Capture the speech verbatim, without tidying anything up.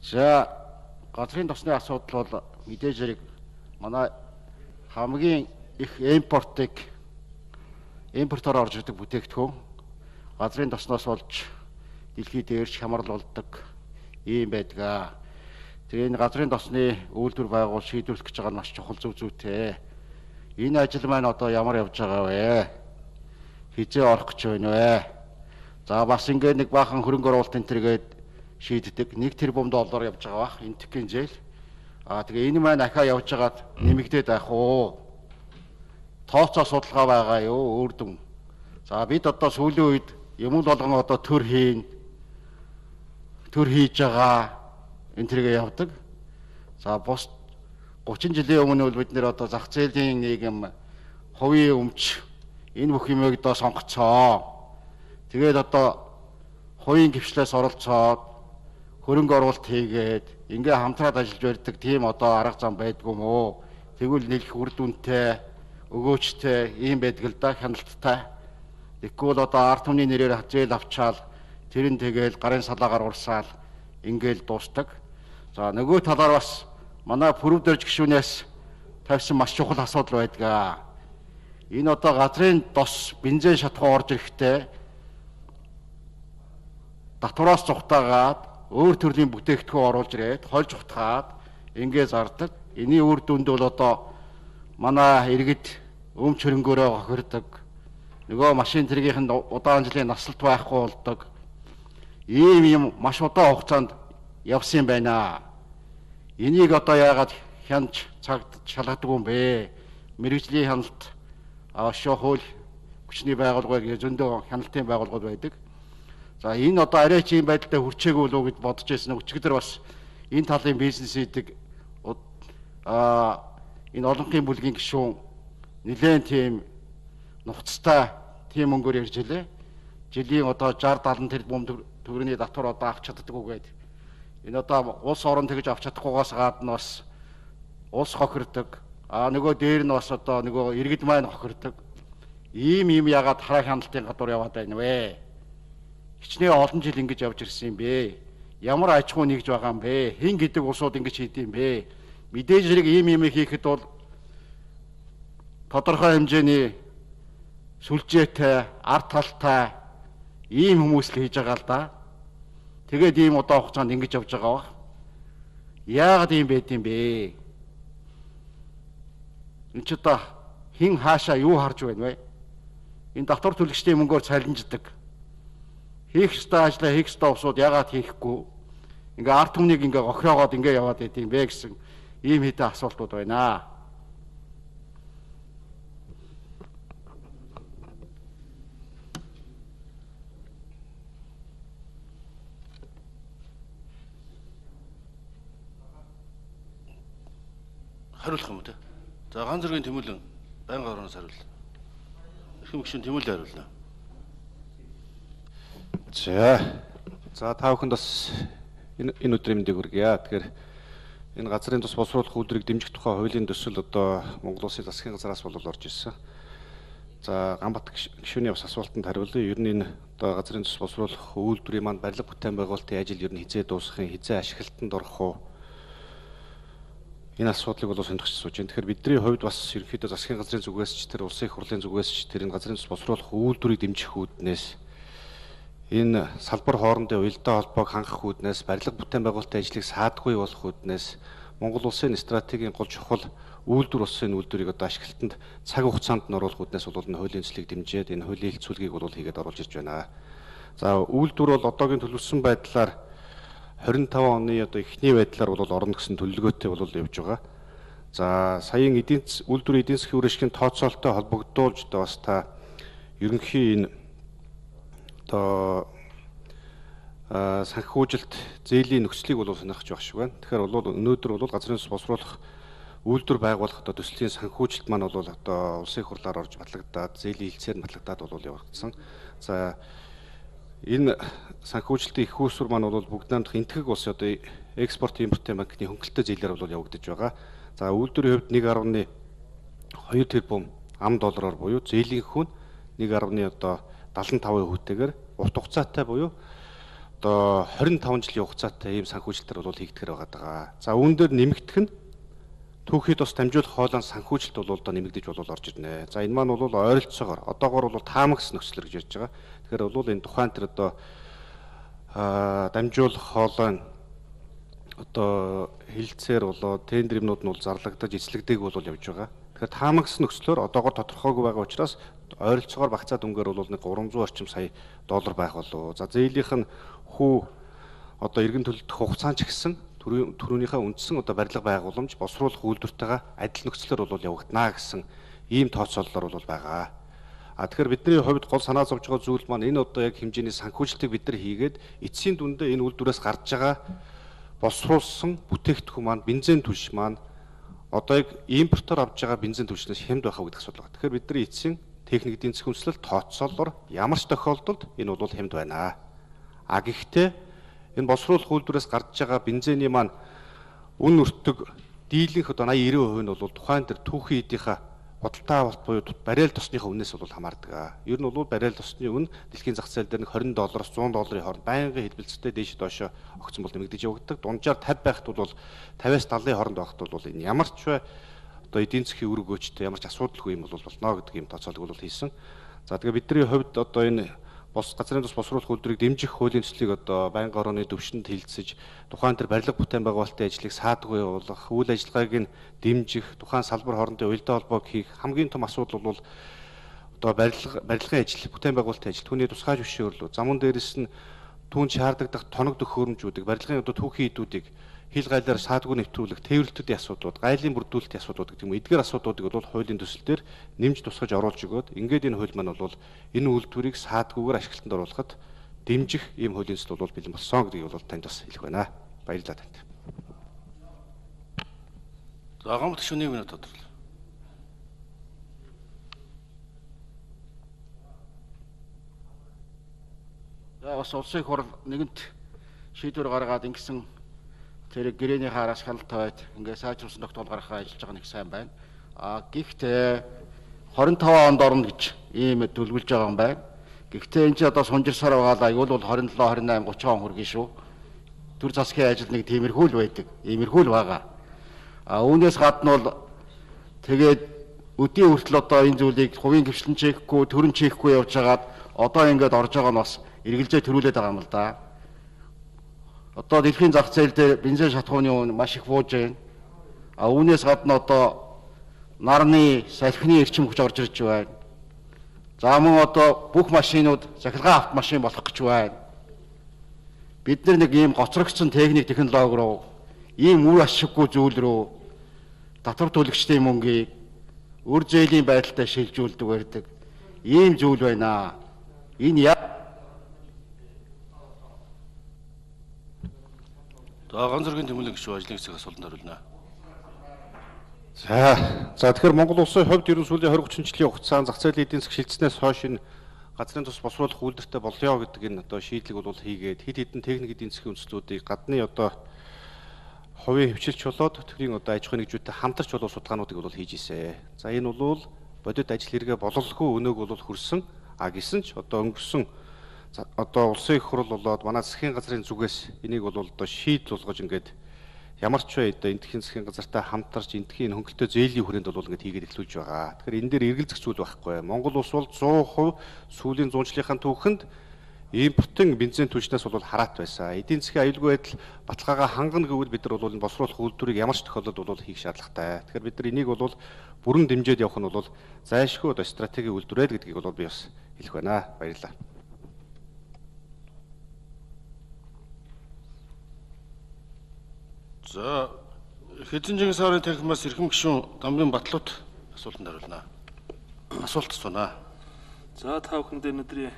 За газрын тосны асуудал бол мэдээж хэрэг манай хамгийн их импортыг импортоор орж ирдэг бүтээгдэхүүн газрын тосноос болж дэлхийд дээрч хямрал болдог ийм байдаг. Тэгээ энэ газрын тосны үйлдвэр байгуул шийдвэрлэх гэж байгаа нь маш чухал зөв зүйтэй. Энэ ажил маань одоо ямар явж байгаа вэ? Хизээ орох гэж байна вэ? За бас ингээд нэг баахан хөрөнгө оруулалт энэ төргээд шийддэг. нэг тэрбум доллар явж байгаа бах энэ төггийн зээл. Аа тэгээ энэ маань ахаа явж байгаад нэмэгдээд байх уу? Тооцоо судалгаа байгаа юу? Өөр дүн. За бид одоо сүүлийн үед юм болгон одоо төр хийн төр хийж байгаа энэ төргээ явдаг. За бус гучин жилийн өмнө бол бид нэр одоо зах зээлийн нийгэм хувийн өмч энэ бүх юмыг одоо сонгоцоо. Тэгээд одоо хувийн гишлээс оролцоод хөрөнгө оруулалт хийгээд ингээ хамтраад ажиллаж барьдаг тийм одоо арга зам байдгүй мó. Тэгвэл нэлэх үр дүнтэй, өгөөжтэй ийм байдаг л да, хяналттай. Тэгвэл одоо ард түмний нэрээр зээл авчаал тэр нь тэгэл гарын салаагаар урсаал ингээл дуустдаг. За нөгөө талаар бас манай пүрэв дөрж гишүүнээс тавьсан маш чухал асуудал байдаг. Энэ одоо газрын тос бензин шатхуу орж ирэхдээ татвараас цухтаагаад өөр төрлийн бүтээгдэхүүн оруулж ирээд хольж утгаад ингээ зардаг. Эний үр дүнд бол одоо манай иргэд өмч хөрөнгөөрөө хохирдог. Нөгөө машин тэргийнх нь удаан жилийн насалт байхгүй болдог. Ийм юм маш удаан хугацаанд явсан байна. Энийг одоо яагаад хянаж цагт шалгадаг юм бэ? Мэргэжлийн хяналт авашаа хууль хүчний байгууллагыг зөндөө хяналтын байгууллагууд байдаг. За энэ одоо арай ч юм байдалтай хүрчээгүй болов уу гэж бодож байсан. Өчигдөр бас энэ талын бизнес хийдэг аа энэ олонхын бүлгийн гишүүн нэлээд тийм нухацтай тийм мөнгөөр ярьж илээ. Жилийн одоо шард талан тэрбум төгрөгийн татвар одоо авч чаддаггүй гэдэг. Энэ одоо улс орон тэгж авч чадахгүйгаас гадна бас улс хохирдог. Аа нөгөө дээр нь бас одоо нөгөө иргэд маань хохирдог. Ийм ийм ягаад хараа хяналтын гадуур яваад байна вэ? Хичнээн олон жил ингэж явж ирсэн юм бэ? Ямар аж ахуй нэгж байгаа юм бэ? Хин гэдэг улсууд ингэж хийдэм бэ? Мэдээж хэрэг ийм юм хийхэд бол тодорхой хэмжээний сүлжээтэй, ард талтай ийм хүмүүс л хийж байгаа л да. Тэгээд ийм удаан хугацаанд ингэж явж байгаа ба. Яагаад ийм байд юм бэ? Энд ч одоо хин хаашаа юу харж байна вэ? Энэ татвар төлөгчдийн мөнгөөр цалинждаг. Хийх ёстой ажлаа хийх ёстой усууд яагаад хийхгүй? Ингээ ард түмнийг ингээ гохиогоод ингээ яваад байт юм бэ гэсэн ийм хэдэн асуултууд байна. Хариулах юм уу те? За ганц зэргийн Тэмүүлэн байнга орноос хариул. Эрхэм гишүүн Тэмүүлэн хариулна. За. За та бүхэнд бас энэ энэ өдрийн мэндийг хүргье. Тэгэхээр энэ газрын тус боловсруулах үйлдвэрийг дэмжих тухай хуулийн төсөл одоо Монгол Улсын засгийн газраас бол орж ирсэн. За Ганбат гишүүний бас асуултанд хариулъя. Ер нь энэ одоо газрын тус боловсруулах үйлдвэрийн маань барилга бүтээн байгуулалтын ажил ер нь хизээ дуусахын, хизээ ашиглалтанд орох уу? Энэ асуудлыг бол сонирхож сууж байна. Тэгэхээр бидний хувьд бас ерөнхийдөө засгийн газрын зүгээс ч тэр улсын их хурлын зүгээс ч тэр энэ газрын тус боловсруулах үйлдвэрийг дэмжих үүднээс энэ салбар хоорондын уялдаа холбоог хангах үүднээс барилга бүтээн байгуулалтын ажлыг саадгүй болох үүднээс Монгол улсын стратегийн гол чухал үйлдвэр улсын үйлдвэрийг одоо ашиглалтанд цаг хугацаанд нь оруулах үүднээс бол энэ хуулийн төслийг дэмжиж энэ хуулийн хэлцүүлгийг бол хийгээд оруулж ирж байна. За үйлдвэр бол одоогийн төлөвлөсөн байдлаар хорин таван оны одоо эхний байдлаар бол орно гэсэн төлөвлөгөөтэй бол явж байгаа. За саяын эдийн засгийн үйлдвэрийн эдийн засгийн үр ашигын тооцоололтой холбогдуулж одоо бас та ерөнхий энэ одоо санхүүжилт зээлийн нөхцөлийг бол сонирхож байх шиг байна. Тэгэхээр бол өнөөдөр бол газрын тус боловсруулах үйлдвэр байгуулах одоо төслийн санхүүжилт маань бол одоо улсын их хурлаар орж батлагдаад зээлийн хилцээр нь батлагдаад бол явагдсан. За энэ санхүүжилтийн их үүсвэр маань бол бүгд намдах энтгэг улс одоо экспорт импортын банкны хөнгөлөлтөй зээлээр бол явагдаж байгаа. За үйлдвэрийн хувьд нэг гаруй хоёр тэрбум ам доллараар буюу зээлийн хүн нэг гаруй одоо дадлан тавын хүүтэйгээр урт хугацаатай буюу одоо хорин таван жилийн хугацаатай ийм санхүүжилтээр бол хийгдэхэр байгаа. За үүн дээр нэмэгдэх нь түүхий тус дамжуулах хоолойн санхүүжилт бол одоо нэмэгдэж бол орж ирнэ. За энэ маань бол ойролцоогоор одоогоор бол таамагс нөхцөл гэж ярьж байгаа. Тэгэхээр бол энэ тухайн тэр одоо дамжуулах хоолойн одоо хилцээр болоо тендер юмнууд нь бол зарлагдаж эзлэгдээг бол явж байгаа. Тэгэхээр таамагс нөхцлөөр одоогоор тодорхойгүй байгаа учраас ойролцоогоор багцаад өнгөөр бол нэг гурван зуун орчим сая доллар байх болов. За зээлийнх нь хүү одоо эргэн төлөлтөх хугацаан ч гэсэн түрүүнийхээ үндсэн одоо барилга байгууламж босруулах үйлдвэртэйгээ адил нөхцлөөр бол явагдана гэсэн ийм тооцооллоор бол байгаа. А тэгэхээр бидний хувьд гол санаа зовж байгаа зүйл маань энэ одоо яг хэмжээний санхүүжилтийг бид нар хийгээд эцсийн дүндээ энэ үйлдвэрээс гарч байгаа босруулсан бүтээгдэхүүн маань бензин түлш маань одоо яг импортоор авж байгаа бензин түлшнээс хямд байхаа гэдэг асуудал байна. Тэгэхээр бидний эцсийн техник эдийн засгийн үндэслэл тооцоололоор ямар ч тохиолдолд энэ бол хямд байна. А гэхдээ энэ босруулах үйлдвэрээс гарч байгаа бензиний маань үн өртөг дийлэнх одоо восемьдесят девять хувь нь бол тухайн тэр түүхий эдийнхээ бодолтой авалт буюу баррел тосныхаа үнээс бол хамаардаг. Ер нь бол баррел тосны үн дэлхийн зах зээл дээр нэг двадцать доллароос зуун долларын хооронд байнгын хэлбэлцэлтэй дээш доошо огцон бол нэмэгдэж явагддаг. Дунджаар пятьдесят байхад бол пятьдесяас сексений хооронд байхад бол энэ ямар ч бай одоо эдийн засгийн үр өгөөчтэй ямар ч асуудалгүй юм бол болно гэдэг юм тооцоолог бол хийсэн. За тэгээ бидний хувьд одоо энэ бос газрын тус босруулах үйлдвэрийг дэмжих хуулийн төслийг одоо байнгын орооны төвшөнд хилцэж тухайн тэр барилга бүтээн байгуулалтын ажлыг саадгүй явуулах, үйл ажиллагааг нь дэмжих, тухайн салбар хоорондын уялдаа холбоог хийх хамгийн том асуудал бол одоо барилга барилгын ажил, бүтээн байгуулалтын ажил, түүний тусгай зөвшөөрлөө, замун дээрээс нь түүнд шаардлагатай тоног төхөөрөмжүүдийг, барилгын одоо түүхий эдүүдийг хил гайлаар саадгүй нэвтрүүлэх, тээвэрлэлтийн асуудлууд, гайлын бүрдүүлэлтийн асуудлууд гэх юм эдгээр асуудлуудыг бол хуулийн төсөл дээр нэмж тусгаж оруулж өгөөд ингээд энэ хууль маань бол энэ үйлдвэрийг саадгүйгээр ашиглалтанд оруулахад дэмжих ийм хуулийн төсөл бол бэлэн болсон гэдгийг бол танд бас хэлэх байна. Баярлалаа танд. За гомдох шүнийг минут тодорхойлоо. За бас улсын их хурл нэгэнт шийдвэр гаргаад ингэсэн тэр гэрээний хаараас хяналтайд ингээд сайжруулсан тогтоол гаргахаа ажиллаж байгаа нэг сайн байна. А гэхдээ двадцать пять онд орно гэж ийм төлөвлөж байгаа юм байна. Гэхдээ энэ ч одоо сунжирсаар байгаа аюул бол двадцать seven, twenty eight, thirty он хүргэн шүү. Төр засгийн ажил нэг тиймэрхүү л байдаг. Иймэрхүү л байгаа. А үүнээс гадна бол тэгээд өдийн хүртэл одоо энэ зүйлийг хувийн гэрчлэн чийхгүй, төрөн чийхгүй явж хагаад одоо ингээд орж байгаа нь бас эргэлзээ төрүүлээд байгаа юм л да. Одоо дэлхийн зах зээл дээр бензин шатхууны үн маш их бууж байна. А үүнээс гадна одоо нарны салхины эрчим хүч орж ирж байна. За мөн одоо бүх машинууд захиргаан автомашин болох гэж байна. Бид нар нэг ийм гоцрогдсон техник технологи руу, ийм үр ашиггүй зүйл рүү татвар төлөгчдийн мөнгийг үр зээлийн байдалтай шилжүүлдэг байдаг. Ийм зүйл байна. Энэ яа За ганц зэргийн тэмүүлэн гişүү ажлын хэсэг асуултанд хариулна. За за тэгэхээр Монгол улсын хувьд ерөн сүүлийн twenty thirty жилийн хугацаанд зах зээлийн эдийн засаг шилжснээс хойш энэ газрын тус босруулах үйлдвэртэй болёо гэдэг энэ одоо шийдлийг бол хийгээд хэд хэдэн техник эдийн засгийн үндэслүүдийг гадны одоо хувийн хвчилж болоод төсвийн одоо аж ахуйн нэгжүүдтэй хамтарч болоо судалгаануудыг бол хийж ирсэн. За энэ бол бодит ажил хэрэгэ бололгүй өнөөг бол хүрсэн. А гисэн ч одоо өнгөрсөн одоо улсын их хурл болоод манай засгийн газрын зүгээс энийг бол одоо шийд болгож ингээд ямар ч бай одоо эндхийн засгийн газартай хамтарч эндхийн хөнгөлтөө зээлийн хүрээнд бол ингээд хийгээд эхлүүлж байгаа. Тэгэхээр энэ дээр эргэлзэх зүйл байхгүй. Монгол улс бол one hundred percent сүүлийн зуунчлалынхаа түүхэнд импортын бензин түлшнээс бол хараат байсан. Эдийн засгийн аюулгүй байдал баталгаагаа хангана гэвэл бид нар бол энэ босруулах үйлдвэрийг ямар ч тохиолдолд бол хийх шаардлагатай. Тэгэхээр бид нар энийг бол бүрэн дэмжиж явах нь бол зайлшгүй одоо стратеги үйлдвэрээ гэдгийг бол би бас хэлэх байна. Баярлалаа. За хэзэн сарын танхимаас эрхэм гишүүн Дамбын Батлууд асуултанд хариулна. Асуулт асуунаа. За та бүхэнд өнөөдрийн